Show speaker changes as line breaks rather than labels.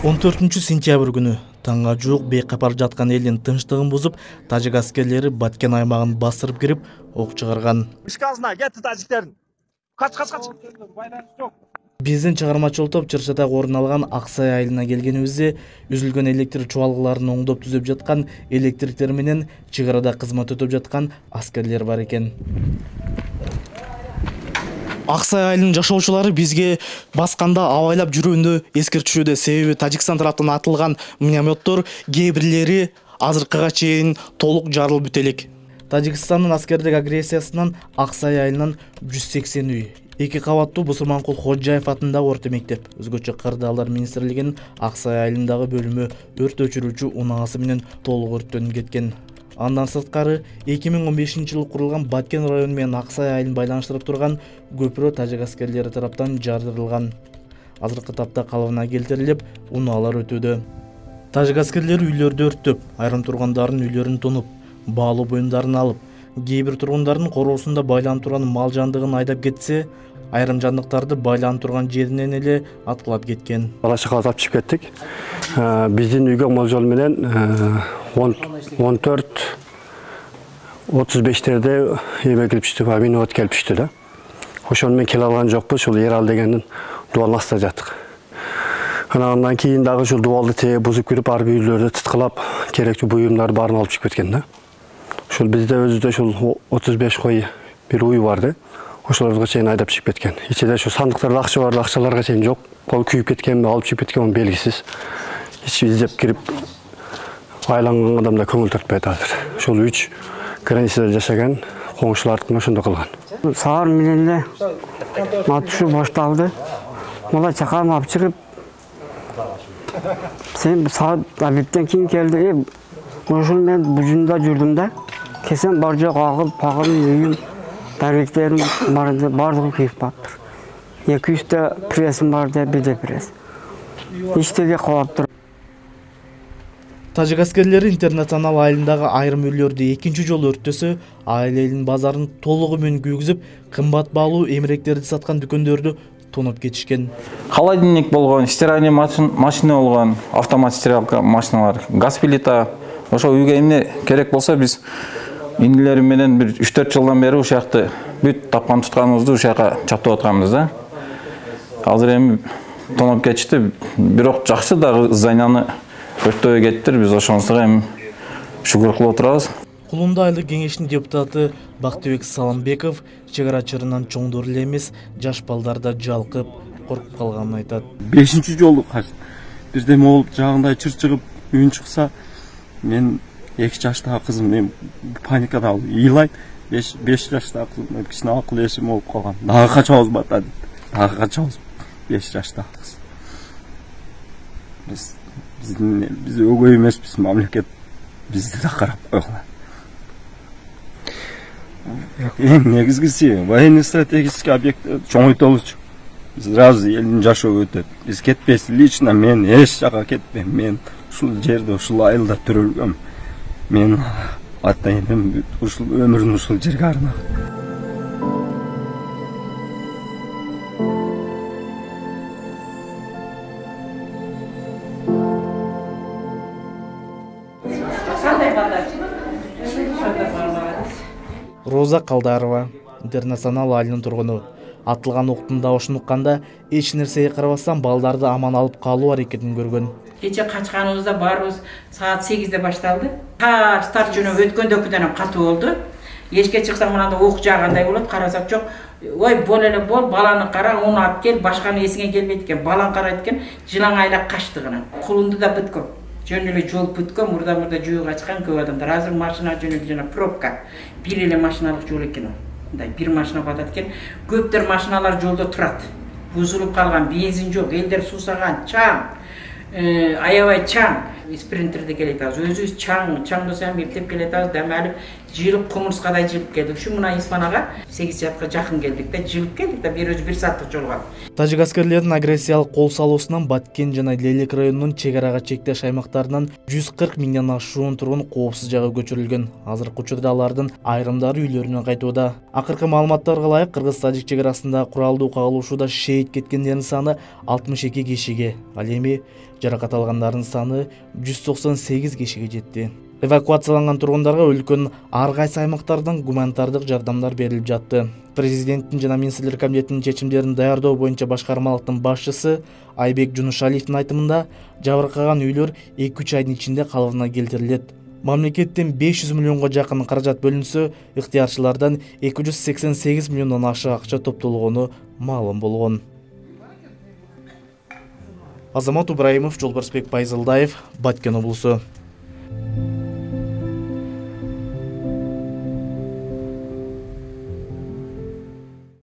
14-сентябрь күнү таңга жуук бейкапар жаткан элдин тынчтыгын бузуп, тажик аскерлери Баткен аймагын басырып кирип, ок чыгарган.
Ишкалсына кетти тажиктердин. Кач.
Биздин чыгармачыл топ Чыршатага орун алган Аксай айылына келгенибизде, үзүлгөн электр чубалгыларын оңдоп түзөп жаткан электриктер менен чек арада кызмат өтөп жаткан аскерлер бар экен. Аксай айылынын жашоочулары бизге басканда абайлап жүрүүнү эскертишүүдө, себеби Тажикстан тараптан атылган минометтор кээ бирлери азыркыга чейин толук жарылып бүт элек. Тажикстандын аскердик агрессиясынан Аксай айылынан 180 үй, 2 кабаттуу Бусурманкул Ходжаев атындагы орто мектеп, өзгөчө Кырдаалдар министрлигинин Аксай айылындагы бөлүмү өрт өчүрүүчү унаасы менен толук өрттөнүп кеткен. Андан сырткары 2015-жылы курулган Баткен району менен Аксай айылын байланыштырып турган көпүрө тажик аскерлери тараптан жардырылган. Азыркы тапта калыбына келтирилип, унаалар өтүүдө. Тажик аскерлери үйлөрдү өрттөп, айрым тургундардын үйлөрүн тонуп, баалуу буюмдарын алып, кээ бир тургундардын короосунда байланып турган мал жандыгын айдап кетсе, айрым жандыктарды байланып турган жеринен эле аткылап кеткен.
Бала чакаларды алып чыгып кеттик. Биздин үйгө молжол менен 14:35-терде эме келип түштү, минот келип түштү да. Ошону мен келе алган жокпун, ушул Ерал дегендин дубалынын астында жаттык. Андан кийин дагы ушул дубалды тээ бузуп кирип, ар бир үйлөрдү тыткылап, керектүү буюмдарды баарын алып чыгып кеткен да. Ушул бизде өзүдө ушул 35 кой бир уй бар да. Ошолорго чейин айдап чыгып кеткен. Ичинде ошо сандыктарда акча бар, акчаларга чейин жок. Кол күйүп кеткенби, алып чыгып кеткенби белгисиз. Ич издеп кирип айланган адамда көңүл тартпайт азыр. Ошол 3 границада жашаган коңшулардыкына ошондой кылган.
Саар менен эле атышуу башталды. Мала чакам алып чыгып, сен саат абиттен кийин келди. Ошол мен бужунда жүрдүм да. Кесем бар жок агыл, пагыл, үйүм, даректерим бардыгы күйүп калыптыр. 200 та прессим бар деп, бирде пресс. Иштеге калыптыр.
Тажик аскерлери Интернационал айылындагы айрым үйлөрдү экинчи жолу өрттөсө, айыл элинин базарын толугу менен күйгүзүп, кымбат баалуу эмеректерди саткан дүкөндөрдү тонуп кетишкен.
Холодильник болгон, стиральный машина болгон, автомат стиралка машиналар, газ плита. Ошо үйгө эмне керек болсо биз инилерим менен бир 3-4 жылдан бери ушул жакты бүт тапкан тутканыбызды ушул жака чаптап атканбыз да. Азыр эми тонуп кетишти, бирок жакшы дагы зданияны өрттөбөй кеттир, биз ошонусуга эми шүгүр кылып отурабыз.
Кулунда айылдык кеңештин депутаты Бактыбек Саламбеков чек ара чырынан чоңдор эле эмес, жаш балдар да жалкып, коркуп калганын айтат.
5-чи жолу бирдеме болуп жагында чыр чыгып үн чыкса, мен 2 жаштагы кызым мен паникада ыйлайт. 5 жаштагы кызым кичине акыл эсим болуп калган. Дагы качабыз батады. Дагы качабыз 5 жаштагы кыз. Биз өгөй эмеспиз, мамлекет бизди да карап койгула. Эң негизгиси военный стратегический объект чоңойтолучу. Биз сразу элдин жашоо өтөт. Биз кетпейбиз, лично мен эч жака кетпейм. Мен ушул жерде, ушул айылда төрөлгөм. Мен ата-энем ушул өмүрүн ушул жерге арнаган.
Роза Калдарова, Интернационал айылынын тургуну. Атылган октун дабышын укканда эч нерсеге карабастан балдарды аман алып калуу аракетин көргөн.
Кече качканыбызда баарыбыз саат 8-де башталды. Старт жөнөп өткөндөгүдөн катуу болду. Эшикке чыксаң мынандай ок жаагандай болот, карасак жок. Ой, бол эле бол, баланы кара, уну алып кел, башканы эсиңе келбейт экен. Балан карайт экен, жылаң айлап качты гана. Кулунду да бүткөн. Жөн эле жол бүткөн, мурда жөө качкан көп адамдар. Азыр машина жөнөп жана пробка. Бир эле машиналык жол экен ал. Мындай бир машина батат экен. Көптөр машиналар жолдо турат. Бузулуп калган, бензин жок, элдер суусаган, чаң. Аябай чаң. Спринтерде келет азыр. Өзүбүз чаңдосам эптеп келет азыр, дем алып жылып кумурскадай жылып келдик. Ушу мына Испанага 8 саатка жакын келдик да, жылып келдик да, бир өзү 1 сааттык жол калды.
Тажик аскерлеринин агрессиялык кол салуусунан Баткен жана Лелек районунун чек арага чектеш аймактарынан 140 миңден ашуун тургун коопсуз жайга көчүрүлгөн. Азыркы учурда алардын айрымдары үйлөрүнө кайтууда. Акыркы маалыматтарга ылайык, кыргыз-тажик чек арасында куралдуу кагылышууда шейит кеткендердин саны 62 кишиге, ал эми жаракат алгандардын саны 198 кишиге жетти. Эвакуацияланган тургундарга өлкөнүн ар кайсы аймактардан гуманитардык жардамдар берилип жатты. Президенттин жана министрлер комитетинин чечимдерин даярдоо боюнча башкармалыктын башчысы Айбек Жунушалиевдин айтымында, жабыркаган үйлөр 2-3 айдын ичинде калыбына келтирилет. Мамлекеттен 500 миллионго жакын каражат бөлүнсө, ыктыярчылардан 288 миллиондон ашык акча топтолгону маалым болгон. Азамат Ибраимов, Жолбарсбек Байзылдаев, Баткен облусу.